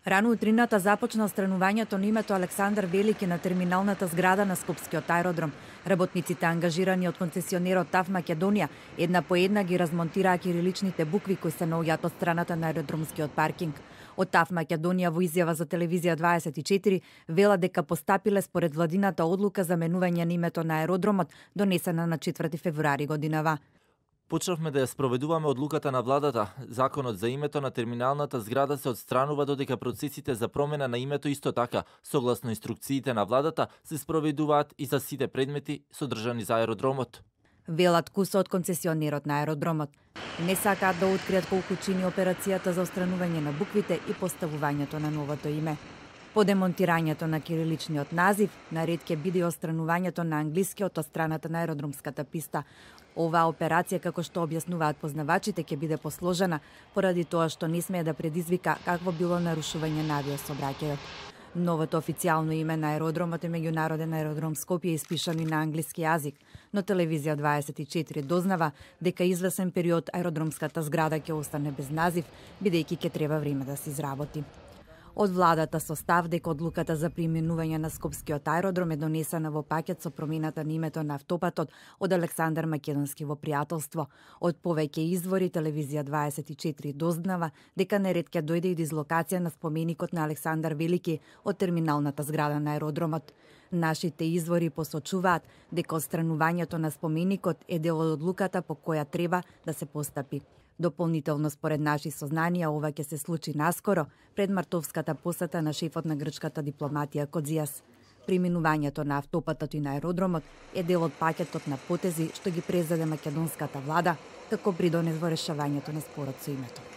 Рано утрината започна отстранувањето на името Александар Велики на терминалната зграда на Скопскиот аеродром. Работниците ангажирани од концесионерот ТАВ Македонија една по една ги размонтираа кириличните букви кои се наоѓаат од страната на аеродромскиот паркинг. Од ТАВ Македонија во изјава за телевизија 24 вела дека постапиле според владината одлука за менување на името на аеродромот донесена на 4 февруари годинава. Почнавме да ја спроведуваме одлуката на владата. Законот за името на терминалната зграда се отстранува додека процесите за промена на името исто така, согласно инструкциите на владата, се спроведуваат и за сите предмети содржани за аеродромот. Велат кусо од концесионерот на аеродромот. Не сакаат да откријат колку чини операцијата за отстранување на буквите и поставувањето на новото име. По демонтирањето на кириличниот назив, наред ќе биде отстранувањето на англискиот од страната на аеродромската писта. Оваа операција, како што објаснуваат познавачите, ќе биде посложена, поради тоа што не смее да предизвика какво било нарушување на авиосообраќајот. Новото официјално име на аеродромот е Меѓународен аеродром Скопје, испишан и на англиски јазик, но телевизија 24 дознава дека извесен период аеродромската зграда ќе остане без назив, бидејќи ќе треба време да се изработи. Од владата со став дека одлуката за преименување на Скопскиот аеродром е донесена во пакет со промената на името на автопатот од Александар Македонски во пријателство. Од повеќе извори телевизија 24 дознава дека наред ќе дојде и дизлокација на споменикот на Александар Велики од терминалната зграда на аеродромот. Нашите извори посочуваат дека отстранувањето на споменикот е дел од одлуката по која треба да се постапи. Дополнително според наши сознанија ова ќе се случи наскоро пред мартовската посета на шефот на грчката дипломатија Кодзијас. Преминувањето на автопатот и на аеродромот е дел од пакетот на потези што ги презеде македонската влада како придонес во решавањето на спорот со името.